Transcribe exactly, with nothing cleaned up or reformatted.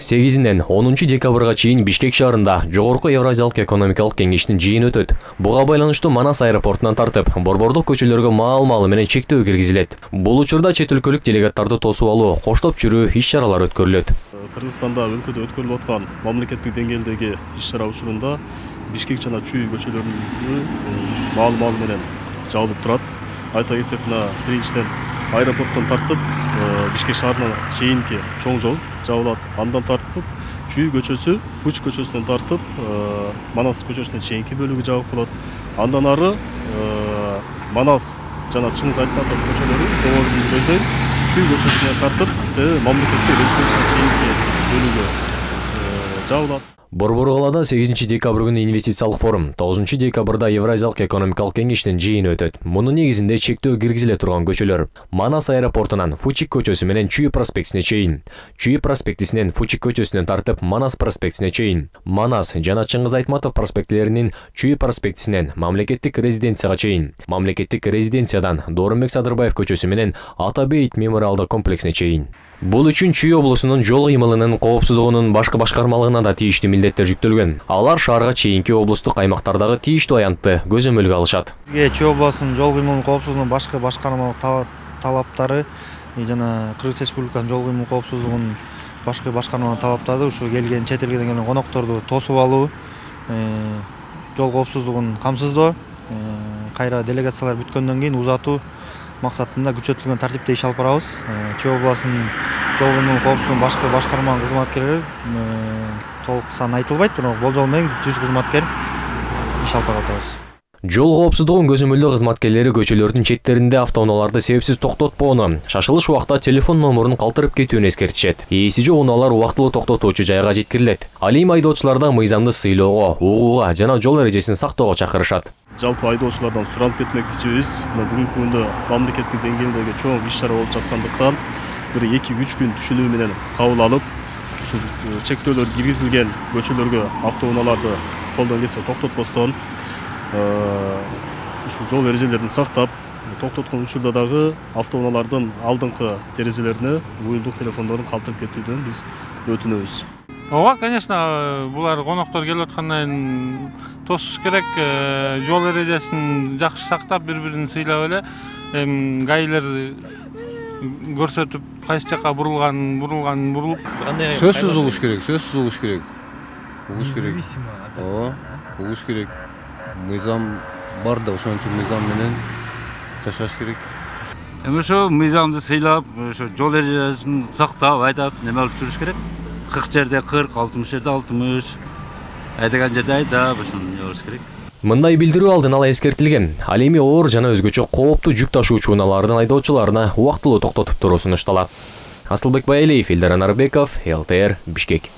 сегизинен онунчу декабрга чейин Бишкек шаарында Жогорку Евразиялык экономикалык кеңештин жыйыны өтөт. Буга байланыштуу Манас аэропортунан тартып, борбордук көчөлөргө маал-маалы менен чектөө киргизилет. Бул учурда чет өлкөлүк делегаттарды тосуп алуу, коштоп жүрүү иш-чаралар өткөрүлөт. Кыргызстанда өлкөдө өткөрүлүп аткан мамлекеттик деңгээлдеги иш-чара учурунда Бишкек жана Чүй көчөлөрүнүн маал-маалы менен жабылып турат. Айта кетсек, мына биринчиден аэропорттон тартып Бишкек шаарына чейинки чоң жол жабылат. Андан тартып Чүй көчөсү, Фуч көчөсүнөн тартып Манас көчөсүнө чейинки бөлүгү жабык болот. Андан ары Манас жана Чыңгыз Айтматов көчөлөрү жогору көздөй Чүй көчөсүнө тартып мамлекеттик резиденцияга чейинки бөлүгү жабылат. Борбор калаада сегизинчи декабрь күнү инвестициялык форум, тогузунчу декабрда Евразиялык экономикалык кеңештин жыйыны өтөт. Мунун негизинде чектөө киргизиле турган көчөлөр: Манас аэропортунан Фучик көчөсү менен Чүй проспектисине чейин, Чүй проспектисинен Фучик көчөсүнөн тартып Манас проспектисине чейин, Манас жана Чыңгыз Айтматов проспектилеринин Чүй проспектисинен мамлекеттик резиденцияга чейин, мамлекеттик резиденциядан Доорунбек Садырбаев көчөсү менен Ата Бейит мемориалдык комплексине чейин. Бул үчүн Чүй облусунун жол кыймылынын коопсуздугунун башкы башкармалыгына да тийиштүү милдеттер жүктөлгөн. Алар шаарга чейинки облустук аймактардагы тийиштүү аянтты көзөмөлгө алышат. Бизге Чүй облусунун жол кыймылынын коопсуздугунун башкы башкармалык талаптары жана Кыргыз Республикасынын жол кыймыл коопсуздугунун башкы башкармалык талаптары ушу келген чет элден келген конокторду тосуп алуу, жол коопсуздугун камсыздоо, кайра делегациялар бүткөндөн кийин узатуу максатында күчөтүлгөн тартипте иш алып барабыз. Чүй облусунун жол кыймыл коопсуздугунун башкы башкарманын кызматкерлери толук сан айтылбайт, бирок болжол менен жүз кызматкер иш алып барып атабыз. Жол коопсуздугун көзөмөлдөө кызматкерлери көчөлөрдүн четтеринде автоунааларды себепсиз токтотпоону, шашылыш убакта телефон номерун калтырып кетүүнү эскертишет. Ээси жок унаалар убактылуу токтотуучу жайга жеткирилет. Ал эми айдоочуларда мыйзамды сыйлоого, угууга жана жол эрежесин сактоого чакырышат. Жалпы айдоочулардан суранып кетмекчибиз. Бүгүнкү күндө мамлекеттик деңгээлдеги чоң иш-чара болуп жаткандыктан бир эки үч күн түшүнүү менен кабыл алып, ушул чектөөлөр киргизилген көчөлөргө автоунааларды колдон келсе токтотпостон, ушул жол эрежелерин сактап, токтоткон учурда дагы автоунаалардын алдыңкы терезелерине уюлдук телефондорун калтырып кетүүдөн биз өтүнөбүз. Ооба, конечно, булар коноктор келип аткандан кийин тосуш керек, жол эрежесин жакшы сактап, бири-бирин сыйлап эле, гаилер көрсөтүп, кайсы жака бурулган, бурулган бурулуп, сөзсүз угуш керек, сөзсүз угуш керек. Угуш керек. Ооба, угуш керек. Мыйзам бар да, ошон үчүн мыйзам менен жашаш керек. Эми ошо мыйзамды сыйлап, ошо жол эрежесин сактап, айдап, неме алып жүрүш керек. кырк жерде кырк, алтымыш жерде алтымыш, айдаган жерде айдап, ошону болуш керек. Мындай билдирүү алдын ала эскертилген. Ал эми оор жана өзгөчө кооптуу жүк ташуучу унаалардын айдоочуларына убактылуу токтотуп туруу сунушталат. Асылбек Байалиев, Элдар Анарбеков, эл тэ эр, Бишкек.